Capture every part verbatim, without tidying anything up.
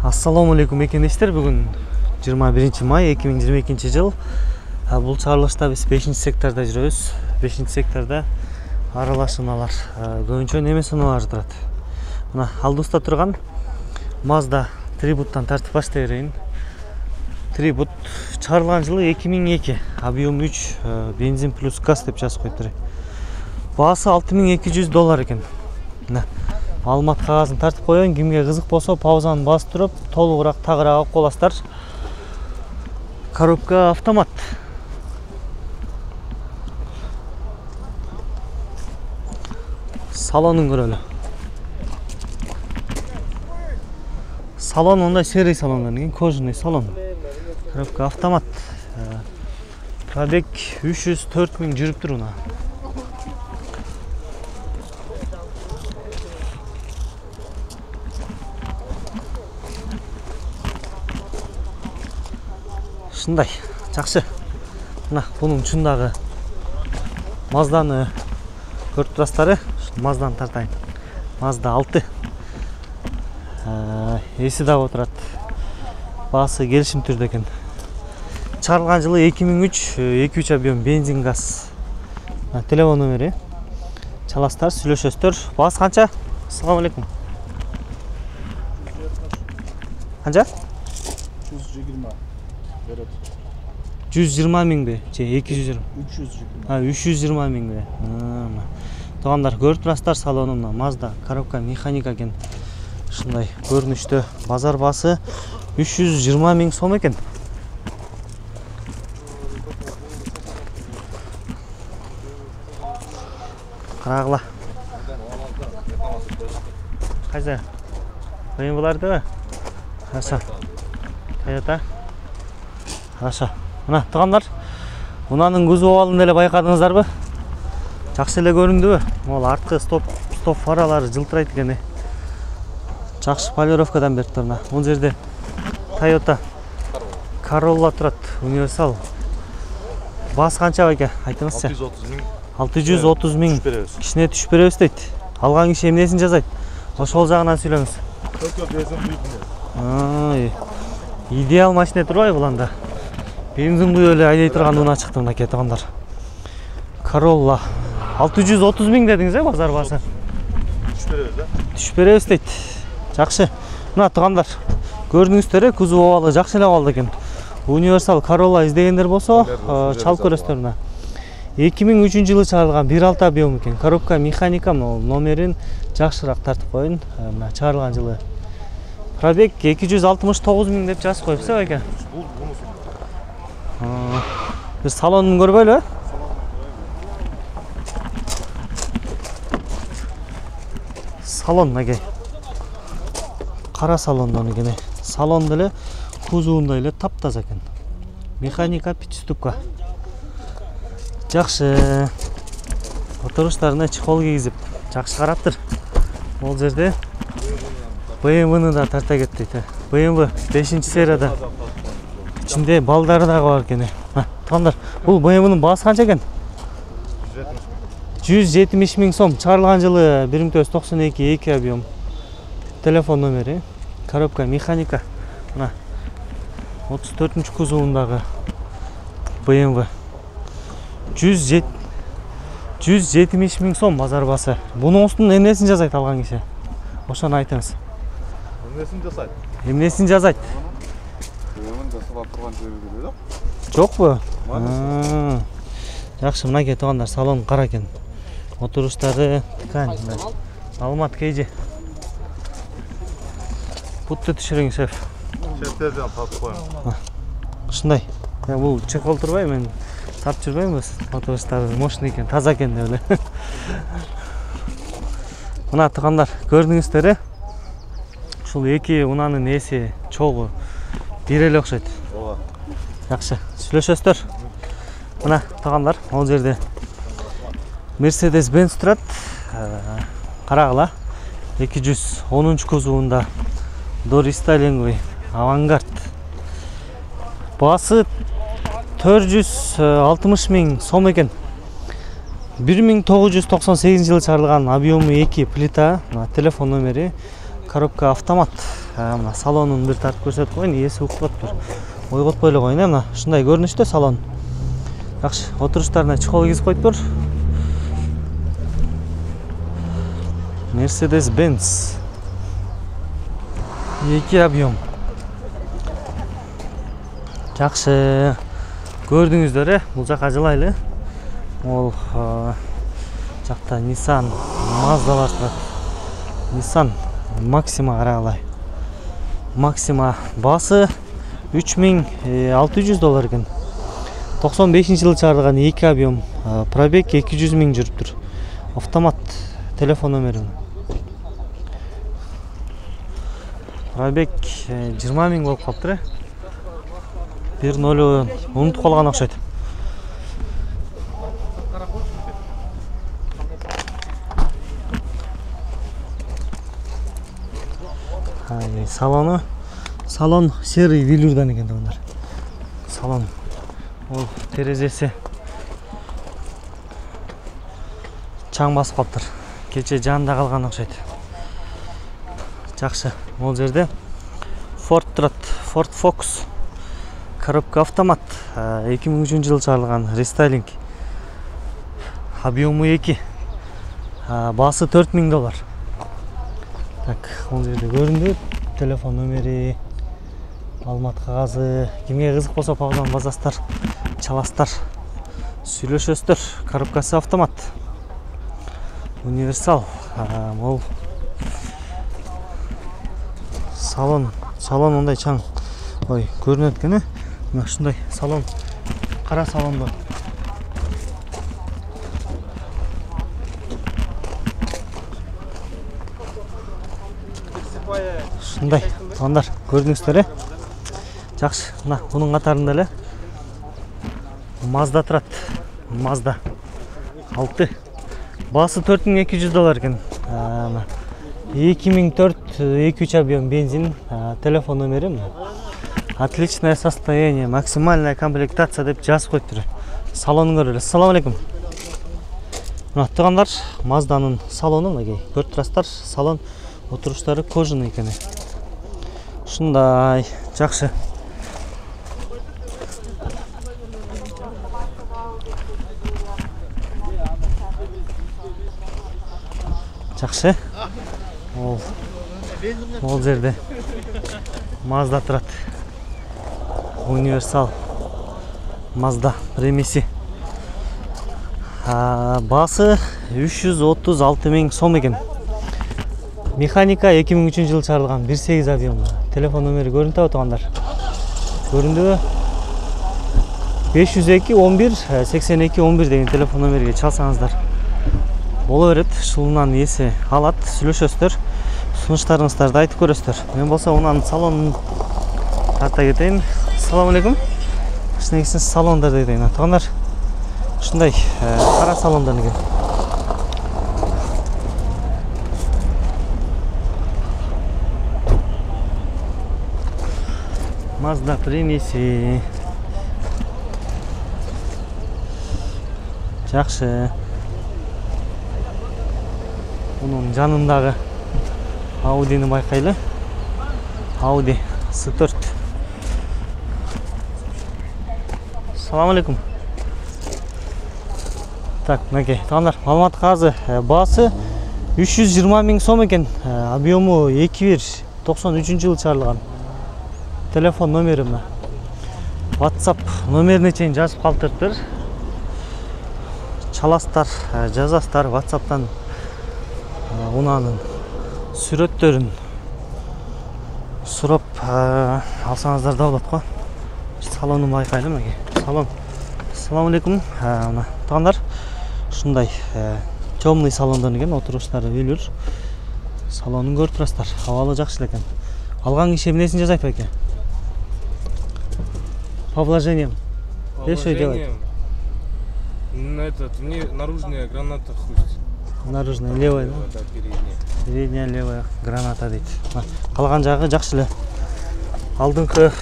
Assalomu alaykum ekendештер. Бүгүн жыйырма биринчи май эки миң жыйырма экинчи жыл. Бул чыгарылышта биз бешинчи секторда жүрөбүз. бешинчи секторда аралашмалар, көбүнчө неме саналары турат. Мына алдыбызда турган Mazda Tributtан тартып баштай берейин. Tribut чыгарылган жылы эки миң эки, объем үч, бензин плюс газ деп жазып коюптур. Баасы алты миң эки жүз доллар экен. Мына маалымат кагазын тартып коеюн, кимге кызык болсо паузаны басып туруп, толугураак тагыраак окуп аласыздар. Коробка автомат. Салонун көрөлү. Салон ондай серый салондон кийин кожаный салон. Коробка автомат. Пробег үч жүз төрт миң жүрүптүр мына. Шындай, жакшы. Мына бунун чундагы Мазданы көрүп турасыздар. Мазданы тартайын. Mazda алты. Эси да отурат. Баасы келишим түрдө экен. Чыгарылган жылы эки миң үч, эки үч объем бензин газ. Телефон номери. Чаласыздар, сүйлөшөсүздөр. Баасы канча? Ассаламу алейкум. Канча? жүз жыйырма. жүз жыйырма миңби? Же эки жүз жыйырма? үч жүз жыйырма. А, үч жүз жыйырма миңби? Туугандар, көрүп турасыздар, салонумда Mazda коробка механика экен. Ушундай көрүнүштө. Базар баасы үч жүз жыйырма миң сом экен. Карагыла. Кайсы? Бен булардыбы? Хорошо. Toyota. Хорошо. Мына туугандар, мунанын кузов абалын эле байкадыңыздарбы? Жакшы эле көрүндүбү? Могул арткы стоп стоп фаралары жылтырайт экен. Жакшы полировкадан бериптир мына. Бул жерде Toyota Corolla турат, универсал. Баасы канча байке? Айтыңызчы. алты жүз отуз миң. Кичине түшүп беребиз дейт. Алган киши эмнесин жазайт? Ошол жагынан сүйлөңүз. Ай. Идеал машина турбайбы буланда? Бензин куюп эле айдай турган уна чыкты мынакей туугандар. Corolla алты жүз отуз миң дедиңиз, э, базар баасы? Түшүп беребиз, да? Түшүп беребиз дейт. Жакшы. Мына туугандар, көрдүңүздөр, кузов абалы жакшы эле абалда экен. Универсал Corolla издегендер болсо, чалып көрөсүздөр мына. эки миң үчүнчү жылы чыгарылган бир алты объем экен. Коробка механика, номерин жакшыраак тартып коюн. Мына чыгарылган жылы. Пробег эки жүз алтымыш тогуз миң деп жазып коюпсуз, э, байке? Биз салонун көрбөйлү, э? Салон мынакей. Кара салондон экен. Салон деле кузовунда эле таптаза экен. Механика пятиступка. Жакшы. Отуруштарына чехол кийгизип, жакшы караптыр. Бул жерде бэ эм вэны да тарта кетти. бэ эм вэ бешинчи серияда. Ичинде балдары дагы бар экен. Туугандар, бул бэ эм вэнин баасы канча экен? жүз жетимиш миң сом. Чыгарылган жылы бир миң тогуз жүз токсон эки, эки объем. Телефон номери. Коробка механика. Мына отуз төртүнчү кузовундагы бэ эм вэ. жүз жетимиш миң сом базар баасы. Бунун устунун эмнесин жазайт алган киши? Ошону айтыңыз. Эмнесин жасайт? Эмнесин жазайт? Эмнесин жасап турган жери беле? Жокпу? Жакшы, мынакей туугандар, салон кара экен. Отуруштары ткань. Маалымат кейжи. Бутты түшүрүң, шеф. Шефтерден тартып коюм. Ушундай. Бул чехол турбай, мен тартып жүрбөйм, отуруштары мощный экен, таза экен деп эле. Мына туугандар, көрдүңүздөр, ушул эки унанын эси чогуу бир эле окшойт. Ооба. Жакшы, сүйлөшөсүздөр. Мына туугандар, ал жерде Mercedes Benz турат. Карагыла. эки жүз онунчу кузовунда дорестайлинговый авангард. Баасы төрт жүз алтымыш миң сом экен. бир миң тогуз жүз токсон сегизинчи жылы чыгарылган, объему эки плита, телефон номери, коробка автомат. мына салонун бир тартып көрсөтүп коеюн, ээси уктап тур. Ойготпой эле коеюн, мына ушундай көрүнүштө салон. Жакшы, отуруштарына чехол кийип коюптур. Mercedes-Benz. эки объем. Жакшы. Көрдүңүздөр, э, бул жака жылайлы. Ол жакта Nissan, Mazdалар турат. Nissan Maxima карагалай. Maxima баасы үч миң алты жүз доллар экен. токсон бешинчи жылы чыгарылган эки объем, пробег эки жүз миң жүрүптүр. Автомат, телефон номери. Пробег жыйырма миң болуп калыптыр, э. бир ноль унутуп калган окшойт. Салону, салон серый велюрдан экен дагы. Салон. Ол терезеси чаң басып калыптыр. Кече жанда калган окшойт. Жакшы. Ол жерде Ford турат. Ford Focus. Коробка автомат. эки миң үчүнчү жылы чыгарылган рестайлинг. Объему эки. Баасы төрт миң доллар. Так, ол жерде көрүндү. Телефон номери, маалымат кагазы. Кимге кызык болсо пагдан базастар, чаластар, сүйлөшөсүздөр. Коробкасы автомат. Универсал. Ол салон, салон мындай чаң. Ой, көрүнөт экен, э. Мына ушундай салон, кара салондо. Ушундай, туугандар, көрдүңүздөр, э. Жакшы, мына бунун катарында эле Mazda турат. Mazda алты. Баасы төрт миң эки жүз доллар экен. эки миң төрт эки үч объем бензин, телефон номери мына. Отличное состояние, максимальная комплектация деп жазып коюптур. Салонун көрөлү. Ассаламу алейкум. Мына туугандар, Mazdanын салону мынакей. Көрүп турасыздар, салон отуруштары кожаный экен. Ушундай, жакшы. Жакшы. Ол Ол жерде Mazda турат. Универсал Mazda премиси. Баасы үч жүз отуз алты миң сом экен. Механика эки миң үчүнчү жылы чыгарылган бир сегиз объем. Телефон номери көрүнүп атат, көрүндүбү? беш жүз эки он бир сексен эки он бир деген телефон номериге чалсаңыздар боло берет. Ушунан ээси алат, сүйлөшөсүздөр, сунуштарыңыздарды айтып көрөсүздөр. Мен болсо унан салонун тарта кетейин. Ассаламу алейкум. Ушундай салондар дейин. Туугандар, ушундай кара салондар экен. Mazda премиси. Жакшы. Мунун жанындагы Audini байкайлы. Audi эс төрт. Ассаламу алейкум. Так, мынакей, туугандар, маалымат кагазы баасы үч жүз жыйырма миң сом экен. Объему эки бир токсон үчүнчү жылы чыгарылган. Телефон номери мына. WhatsApp номерине чейин жазып калтырыптыр. Чаластар, жазастар WhatsApp'тан унанын сүрөттөрүн сурап алсаңыздар да болот го. Салонун байкайлы мынакей. Салон. Ассаламу алейкум. Мына туугандар, ушундай темный салондон экен, отуруштары велюр. Салонун көрүп турасыздар. Абалы жакшы экен. Алган киши эмнесин жасайт байке? По вложениям. Что делать? На этот, мне наружная граната хруст. Наружная, левая, да? Передняя. Передняя, левая граната дейт. Калган жагы жакшы эле. Алдыңкы,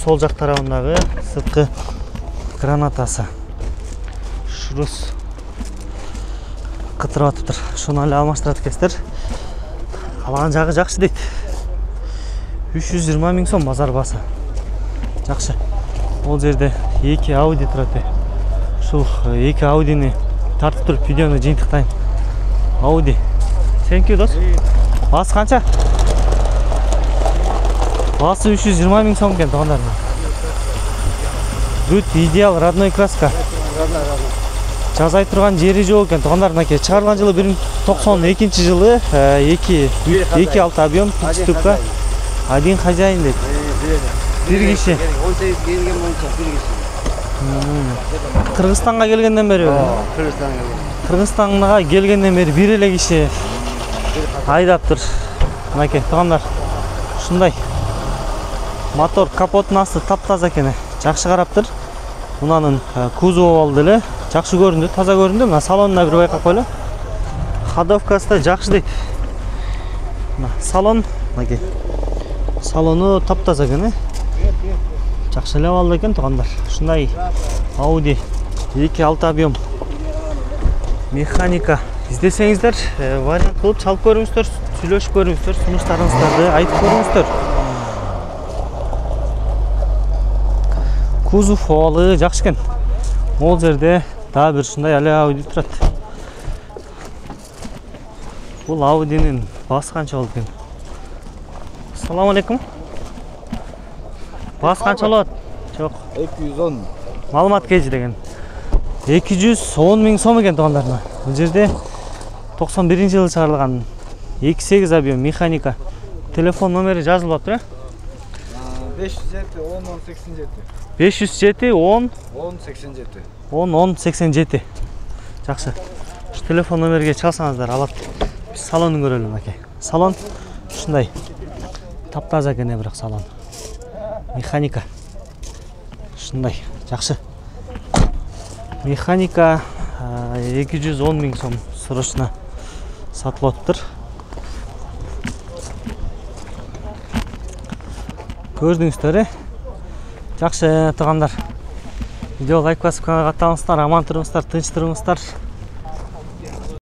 сол жак тарабындагы сырткы гранатасы. Шрус кытырып атыптыр. Шуну эле алмаштырат экенсиздер. Калган жагы жакшы дейт. үч жүз жыйырма миң сом базар баасы. Жакшы. Ол жерде эки Audi турат. Ушул эки Audi'ни тартып туруп видеону жыйынтыктайм. Audi. Thank you, дос. Баасы канча? Баасы үч жүз жыйырма миң сом экен, туугандар. Good, идеал, родной краска. Жазай турган жери жок экен, туугандар. Мынакей чыгарылган жылы бир миң токсон экинчи жылы эки эки алты объем ступка. Один хозяин дейт. Бир киши. он сегиз келген боюнча бир киши. Кыргызстанга келгенден бери. Кыргызстанга келген. Кыргызстанга келгенден бери бир эле киши айдаптыр. Мынакей туугандар. Ушундай. Мотор капотунун асты таптаза экен. Жакшы караптыр. Мунанын кузову болду эле. Жакшы көрүндү, таза көрүндү. Мына салонуна бир байкап койла. Ходовкасы да жакшы дейт. Мына салон, мынакей. Салону таптаза экен. Жакшы эле абалда экен туугандар. Ушундай Audi эки алты объем. Механика издесеңиздер, вариант кылып чалып көрүңүздөр, сүйлөшүп көрүңүздөр, сунуштарыңыздарды айтып көрүңүздөр. Кузов овалы жакшы экен. Ол жерде дагы бир ушундай эле Audi турат. Бул Audi'нин баасы канча болот экен? Ассаламу алейкум. Баасы канча болот? Жок. эки жүз он. Маалымат кежи деген. эки жүз он миң сом экен туугандар. Бул жерде токсон биринчи жылы чыгарылган эки сегиз объем механика. Телефон номери жазылып атыр, э? беш жүз жети он он сексен жети. беш жүз жети он он сексен жети. он он сексен жети. Жакшы. Ушу телефон номерге чалсаңыздар алат. Биз салонун көрөлү мынакей. Салон ушундай. Таптаза экен бирок салон. Механика. Ушундай. Жакшы. Механика эки жүз он миң сом срочно сатылып атыптыр. Көрдүңүздөр, э? Жакшы туугандар. Видео лайк басып каналга каттаңыздар, аман туруңуздар, тынч туруңуздар.